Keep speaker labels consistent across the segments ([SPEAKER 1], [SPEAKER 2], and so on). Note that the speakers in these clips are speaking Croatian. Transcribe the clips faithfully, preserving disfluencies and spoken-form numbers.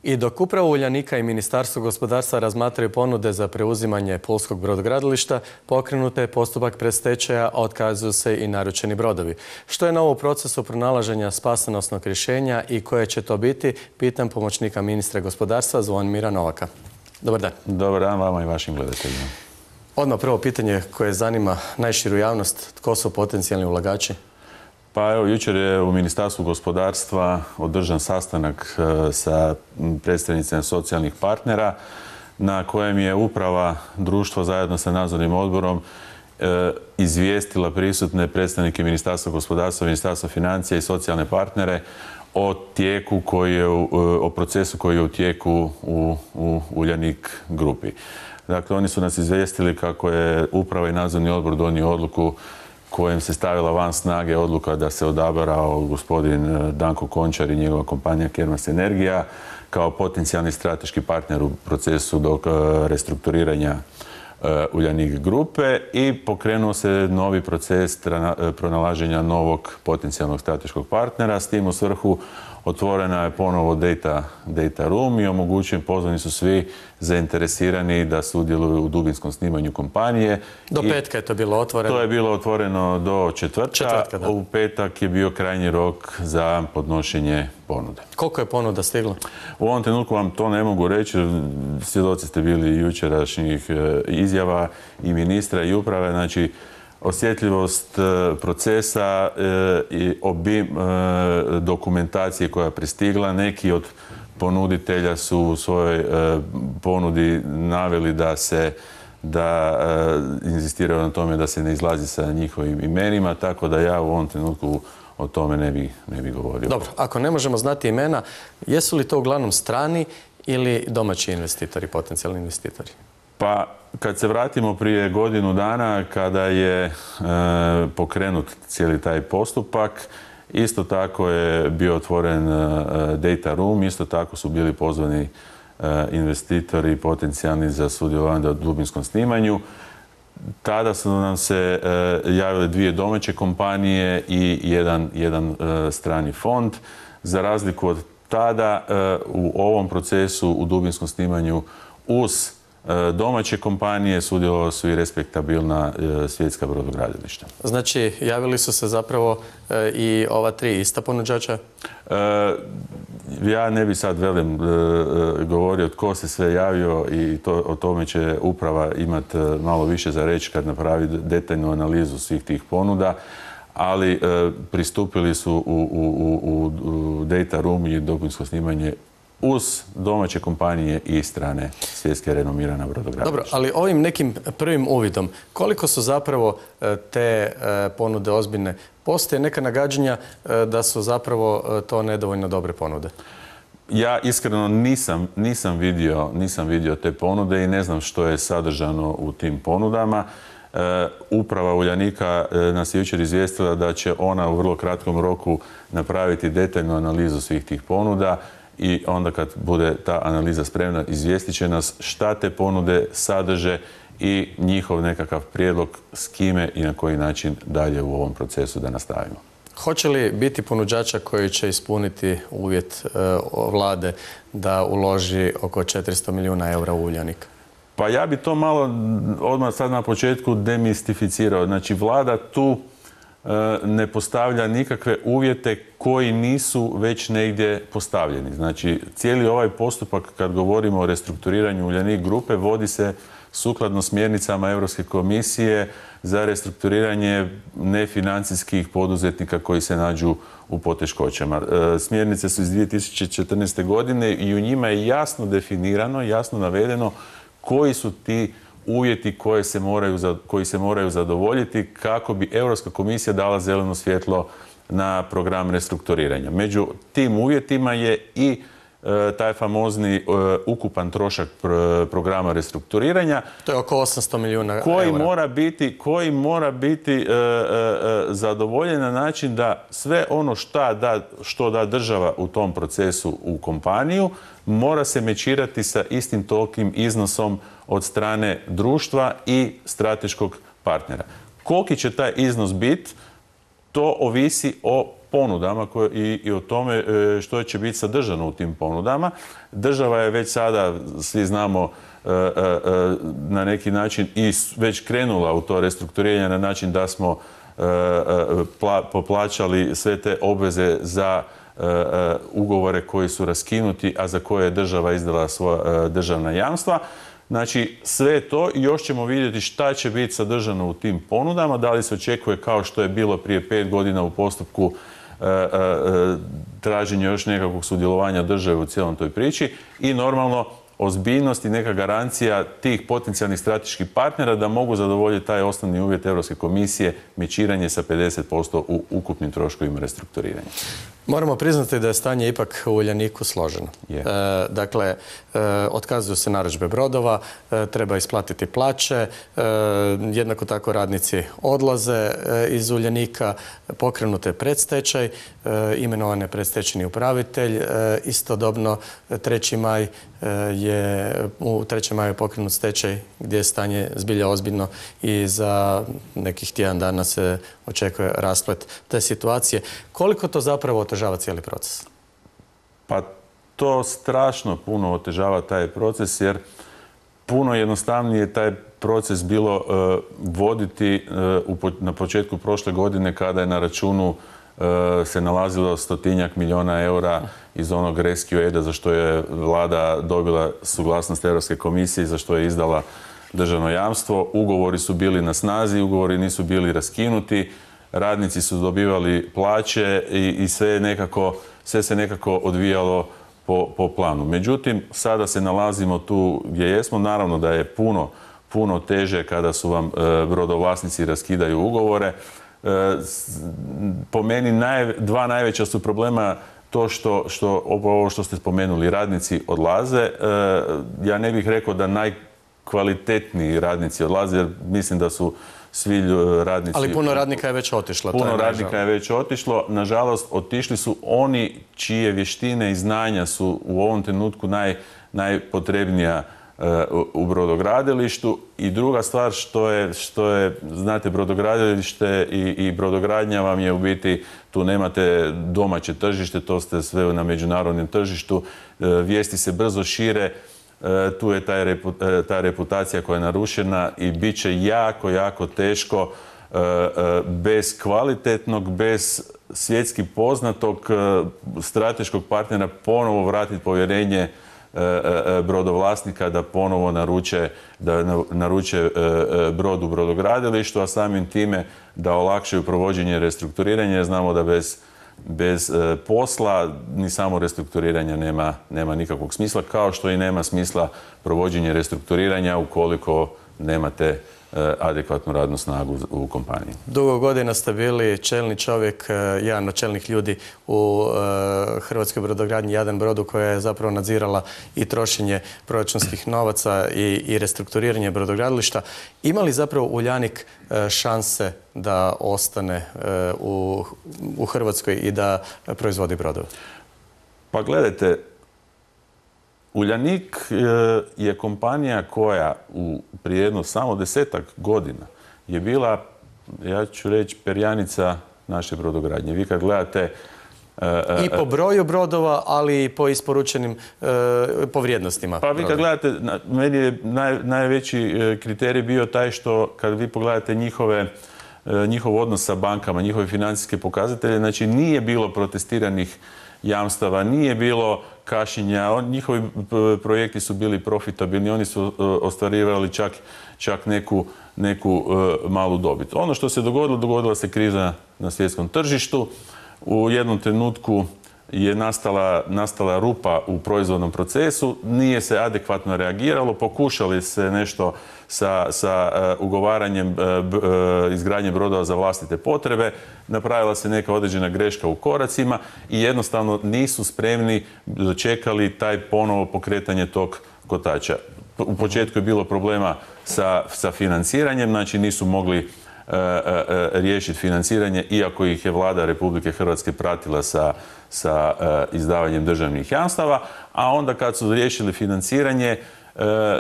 [SPEAKER 1] I dok upravo Uljanika i Ministarstvo gospodarstva razmatraju ponude za preuzimanje pulskog brodogradilišta, pokrenuta je postupak predstečaja, a otkazuju se i naručeni brodovi. Što je novo u procesu pronalaženja spasonosnog rješenja i koje će to biti, pitam pomoćnika ministra gospodarstva Zvonimira Novaka. Dobar dan.
[SPEAKER 2] Dobar dan vama i vašim gledateljima.
[SPEAKER 1] Odmah prvo pitanje koje zanima najširu javnost. Tko su potencijalni ulagači?
[SPEAKER 2] Pa evo, jučer je u Ministarstvu gospodarstva održan sastanak sa predstavnicima socijalnih partnera na kojem je uprava društva zajedno sa nadzornim odborom izvijestila prisutne predstavnike Ministarstva gospodarstva, Ministarstva financija i socijalne partnere o tijeku koji je, o procesu koji je u tijeku u, u Uljanik grupi. Dakle, oni su nas izvijestili kako je uprava i nadzorni odbor donio odluku kojem se stavila van snage odluka da se odabrao gospodin Danko Končar i njegova kompanija Kermas Energija kao potencijalni strateški partner u procesu dok restrukturiranja Uljanik grupe i pokrenuo se novi proces pronalaženja novog potencijalnog strateškog partnera. S tim u svrhu otvorena je ponovo data, data room i omogućen, pozvani su svi zainteresirani da sudjeluju u dubinskom snimanju kompanije.
[SPEAKER 1] Do petka je to bilo otvoreno?
[SPEAKER 2] To je bilo otvoreno do četvrtka.
[SPEAKER 1] Četvrtka, da.
[SPEAKER 2] U petak je bio krajnji rok za podnošenje ponude.
[SPEAKER 1] Koliko je ponuda stiglo?
[SPEAKER 2] U ovom trenutku vam to ne mogu reći. Svjedoci ste bili jučerašnjih izjava i ministra i uprave. Znači, osjetljivost procesa i obim dokumentacije koja je pristigla. Neki od ponuditelja su u svojoj ponudi naveli da se da inzistiraju na tome da se ne izlazi sa njihovim imenima, tako da ja u ovom trenutku o tome ne bi, ne bi govorio.
[SPEAKER 1] Dobro, ako ne možemo znati imena, jesu li to uglavnom strani ili domaći investitori, potencijalni investitori?
[SPEAKER 2] Pa, kad se vratimo prije godinu dana, kada je e, pokrenut cijeli taj postupak, isto tako je bio otvoren e, data room, isto tako su bili pozvani e, investitori potencijalni za sudjelovanje u dubinskom snimanju. Tada su nam se e, javile dvije domaće kompanije i jedan, jedan e, strani fond. Za razliku od tada, e, u ovom procesu u dubinskom snimanju uz domaće kompanije sudjelovali su i respektabilna svjetska brodogradilišta.
[SPEAKER 1] Znači, javili su se zapravo i ova tri ista ponuđača?
[SPEAKER 2] Ja ne bi sad velim govorio tko se sve javio i to, o tome će uprava imati malo više za reći kad napravi detaljnu analizu svih tih ponuda, ali pristupili su u, u, u, u data room i dubinsko snimanje uz domaće kompanije i strane svjetske renomirana brodogradilišta.
[SPEAKER 1] Dobro, ali ovim nekim prvim uvidom, koliko su zapravo te ponude ozbiljne? Postoje neka nagađanja da su zapravo to nedovoljno dobre ponude?
[SPEAKER 2] Ja iskreno nisam, nisam, vidio, nisam vidio te ponude i ne znam što je sadržano u tim ponudama. Uprava Uljanika nas je jučer izvijestila da će ona u vrlo kratkom roku napraviti detaljnu analizu svih tih ponuda i onda kad bude ta analiza spremna izvijestit će nas šta te ponude sadrže i njihov nekakav prijedlog s kime i na koji način dalje u ovom procesu da nastavimo.
[SPEAKER 1] Hoće li biti ponuđača koji će ispuniti uvjet e, vlade da uloži oko četiristo milijuna eura u Uljanik?
[SPEAKER 2] Pa ja bi to malo odmah sad na početku demistificirao. Znači, vlada tu ne postavlja nikakve uvjete koji nisu već negdje postavljeni. Znači, cijeli ovaj postupak kad govorimo o restrukturiranju Uljanik grupe vodi se sukladno smjernicama Europske komisije za restrukturiranje nefinancijskih poduzetnika koji se nađu u poteškoćama. Smjernice su iz dvije tisuće četrnaeste. godine i u njima je jasno definirano, jasno navedeno koji su ti uvjeti koje se moraju, koji se moraju zadovoljiti kako bi Europska komisija dala zeleno svjetlo na program restrukturiranja. Među tim uvjetima je i e, taj famozni e, ukupan trošak pr programa restrukturiranja.
[SPEAKER 1] To je oko osamsto milijuna
[SPEAKER 2] koji
[SPEAKER 1] eura.
[SPEAKER 2] Mora biti, koji mora biti e, e, zadovoljen na način da sve ono šta da, što da država u tom procesu u kompaniju mora se mečirati sa istim tolikim iznosom od strane društva i strateškog partnera. Koliki će taj iznos biti, to ovisi o ponudama i, i o tome što će biti sadržano u tim ponudama. Država je već sada, svi znamo, na neki način i već krenula u to restrukturiranje na način da smo poplaćali sve te obveze za ugovore koji su raskinuti, a za koje je država izdala svoja državna jamstva. Znači, sve to i još ćemo vidjeti šta će biti sadržano u tim ponudama, da li se očekuje kao što je bilo prije pet godina u postupku traženja još nekakvog sudjelovanja države u cijelom toj priči i normalno ozbiljnost i neka garancija tih potencijalnih strateških partnera da mogu zadovoljiti taj osnovni uvjet Europske komisije, mečiranje sa pedeset posto u ukupnim troškovima restrukturiranja.
[SPEAKER 1] Moramo priznati da je stanje ipak u Uljaniku složeno. Yeah. E, dakle, e, otkazuju se narudžbe brodova, e, treba isplatiti plaće, e, jednako tako radnici odlaze e, iz Uljanika, pokrenute predstečaj, e, imenovan je predstečajni upravitelj, e, istodobno treći maj e, je, u trećem maju je pokrenut stečaj gdje je stanje zbilja ozbiljno i za nekih tjedan dana se očekuje rasplet te situacije. Koliko to zapravo otežava cijeli proces?
[SPEAKER 2] Pa to strašno puno otežava taj proces jer puno jednostavnije je taj proces bilo uh, voditi uh, na početku prošle godine kada je na računu uh, se nalazilo stotinjak milijuna eura iz onog Rescue Aida za što je vlada dobila suglasnost Europske komisije i za što je izdala državno jamstvo. Ugovori su bili na snazi, ugovori nisu bili raskinuti, radnici su dobivali plaće i, i sve, nekako, sve se nekako odvijalo po, po planu. Međutim, sada se nalazimo tu gdje jesmo. Naravno da je puno, puno teže kada su vam e, brodovlasnici raskidaju ugovore. E, po meni naj, dva najveća su problema to što, što, ovo što ste spomenuli, radnici odlaze. E, ja ne bih rekao da najkvalitetniji radnici odlaze, jer mislim da su svi radnici...
[SPEAKER 1] Ali puno radnika je već otišlo.
[SPEAKER 2] Puno radnika je već otišlo. Nažalost, otišli su oni čije vještine i znanja su u ovom trenutku naj, najpotrebnija uh, u brodogradilištu. I druga stvar što je, što je znate, brodogradilište i, i brodogradnja vam je u biti, tu nemate domaće tržište, to ste sve na međunarodnom tržištu. Uh, vijesti se brzo šire. Tu je taj repu, ta reputacija koja je narušena i bit će jako, jako teško bez kvalitetnog, bez svjetski poznatog strateškog partnera ponovo vratiti povjerenje brodovlasnika da ponovo naruče, da naruče brod u brodogradilištu, a samim time da olakšaju provođenje restrukturiranja. Znamo da bez Bez e, posla ni samo restrukturiranja nema, nema nikakvog smisla, kao što i nema smisla provođenje restrukturiranja ukoliko nemate e, adekvatnu radnu snagu u kompaniji.
[SPEAKER 1] Dugo godina ste bili čelni čovjek, e, jedan od čelnih ljudi u e, Hrvatskoj brodogradnji Jadran brodu koja je zapravo nadzirala i trošenje proračunskih novaca i, i restrukturiranje brodogradilišta. Ima li zapravo Uljanik e, šanse da ostane e, u, u Hrvatskoj i da proizvodi brodove?
[SPEAKER 2] Pa gledajte, Uljanik e, je kompanija koja u prije jedno samo desetak godina je bila, ja ću reći, perjanica naše brodogradnje. Vi kad gledate...
[SPEAKER 1] E, I po broju brodova, ali i po isporučenim e, po vrijednostima.
[SPEAKER 2] Pa vi kad gledate, meni je naj, najveći kriterij bio taj što kad vi pogledate njihove njihov odnos sa bankama, njihove financijske pokazatelje, znači nije bilo protestiranih jamstava, nije bilo kašnjenja, njihovi projekti su bili profitabilni, oni su ostvarivali čak, čak neku, neku malu dobit. Ono što se dogodilo, dogodila se kriza na svjetskom tržištu. U jednom trenutku je nastala, nastala rupa u proizvodnom procesu, nije se adekvatno reagiralo, pokušali se nešto sa, sa uh, ugovaranjem uh, uh, izgradnje brodova za vlastite potrebe, napravila se neka određena greška u koracima i jednostavno nisu spremni dočekali taj ponovo pokretanje tog kotača. U početku je bilo problema sa, sa financiranjem, znači nisu mogli riješiti financiranje, iako ih je vlada Republike Hrvatske pratila sa, sa izdavanjem državnih jamstava, a onda kad su riješili financiranje,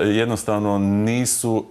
[SPEAKER 2] jednostavno nisu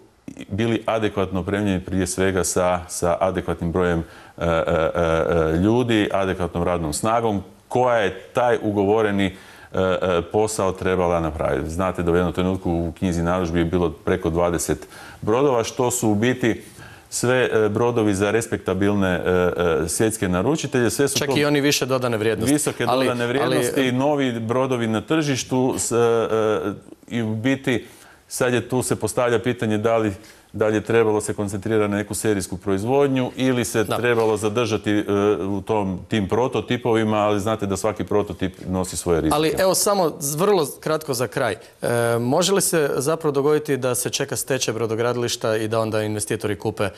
[SPEAKER 2] bili adekvatno opremljeni prije svega sa, sa adekvatnim brojem e, e, e, ljudi, adekvatnom radnom snagom, koja je taj ugovoreni e, e, posao trebala napraviti. Znate da u jednom trenutku u knjizi narudžbi je bilo preko dvadeset brodova, što su u biti sve e, brodovi za respektabilne e, e, svjetske naručitelje. Sve su
[SPEAKER 1] Čak
[SPEAKER 2] to
[SPEAKER 1] i oni više dodane vrijednosti.
[SPEAKER 2] Visoke
[SPEAKER 1] ali,
[SPEAKER 2] dodane vrijednosti i
[SPEAKER 1] ali...
[SPEAKER 2] novi brodovi na tržištu s, e, e, i u biti sad je tu se postavlja pitanje da li da li je trebalo se koncentrirati na neku serijsku proizvodnju ili se da. trebalo zadržati e, u tom, tim prototipovima, ali znate da svaki prototip nosi svoje rizike.
[SPEAKER 1] Ali evo samo vrlo kratko za kraj. E, može li se zapravo dogoditi da se čeka stečaj brodogradilišta i da onda investitori kupe e,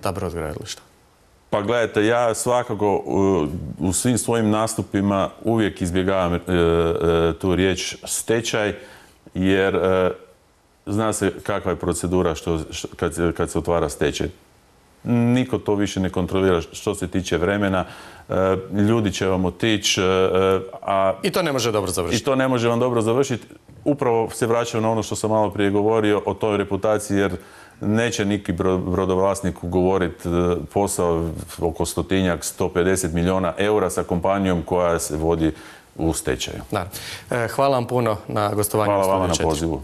[SPEAKER 1] ta brodogradilišta?
[SPEAKER 2] Pa gledajte, ja svakako u, u svim svojim nastupima uvijek izbjegavam e, e, tu riječ stečaj, jer e, zna se kakva je procedura što, što, kad, kad se otvara stečaj. Niko to više ne kontrolira što se tiče vremena. E, ljudi će vam otići. E, a
[SPEAKER 1] I to ne može dobro završiti.
[SPEAKER 2] I to ne može vam dobro završiti. Upravo se vraćam na ono što sam malo prije govorio o toj reputaciji, jer neće neki brodovlasnik ugovoriti posao oko stotinjak, sto pedeset milijuna eura sa kompanijom koja se vodi u stečaju.
[SPEAKER 1] Da. E, hvala vam puno na gostovanju.
[SPEAKER 2] Hvala vama na pozivu.